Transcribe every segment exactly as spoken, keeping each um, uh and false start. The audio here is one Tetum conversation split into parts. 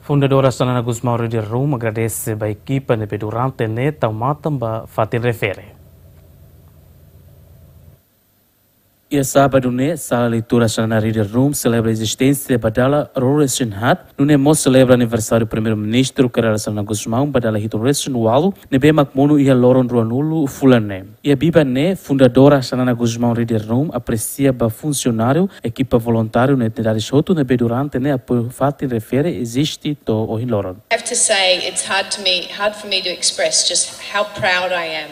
Fundadora Xanana Gusmão Reading Room agradese ba ekipa ne'ebé durante ne'e tau matan ba fatin refere. Iha sábadu ne'e, Sala Leitura Xanana Reading Room selebra ezisténsia ba dala ruanulu-resin-haat, nune'e mós selebra aniversáriu Primeiru-Ministru Kay Rala Xanana Gusmão ba dala hitunulu-resin-ualu, ne'ebé mak monu iha loron ruanulu fulan ne'e. Iha biban ne'e, fundadora Xanana Gusmão Reading Room apresia ba funsionáriu, ekipa voluntáriu no entidades hotu ne'ebé durante ne'e apoiu fatin refere eziste to'o ohin loron. I have to say, it's hard to me, hard for me to express just how proud I am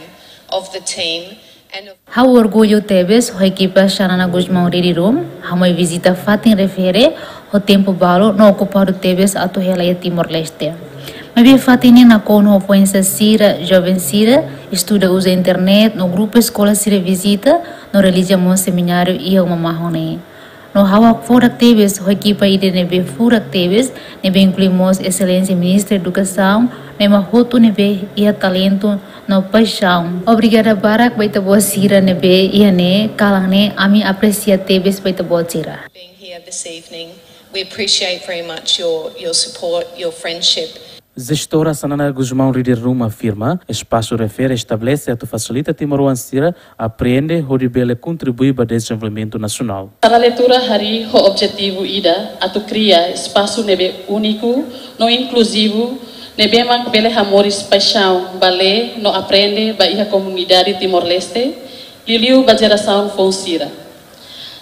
of the team and of Ha'u orgullu tebes ho ekipa Xanana Gusmão Reading Room, hamoe vizita fatin refere ho tempu balu no okupadu tebes atu hela iha Timor-Leste. Maibé fatin ne'e nakonu ho foin-sa'e sira, joven sira, estuda uza internet, no grupu eskola sira vizita, no realiza mós semináriu iha uma mahon ne'e. No ha'u hakfodak tebes ho ekipa ida ne'ebé furak tebes, ne'ebé inklui mós Exelénsia Ministra Edukasaun, no ema hotu ne'ebé iha talentu no paixaun. Obrigada barak ba ita-boot sira ne'ebé iha ne'e, kalan ne'e ami apresia tebes ba ita-boot sira. being here this evening. We appreciate very much your, your support, your friendship. Jestora Xanana Gusmão Reading Room afirma, espasu refere estabelese atu fasilita timoroan sira aprende hodi bele kontribui ba dezenvolvimentu nasionál. Sala Leitura harii ho objetivu ida atu kria espasu ne'ebé úniku no inkluzivu, ne'ebé mak bele hamoris paixaun ba lee no aprende ba iha komunidade Timor-Leste, liuliu ba jerasaun foun sira.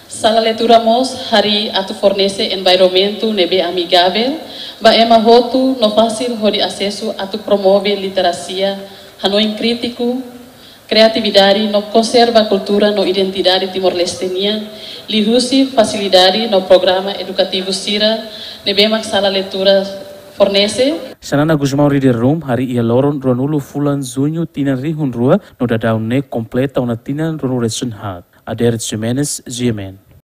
Sala Leitura mós harii atu fornese environmentu ne'ebé amigavel ba ema hotu no fasil hodi asesu atu promove literasia, hanoin krítiku, kreatividade no konserva kultura no identidade Timor-Leste nian, liuhusi fasilidade no programa edukativu sira ne'ebé mak Sala Leitura fornese. Xanana Gusmão Reading Room harii iha loron ruanulu fulan Juñu tinan rihun rua, no daudaun ne'e kompleta ona tinan ruanulu-resin-haat. Ader Ximenes, G M N.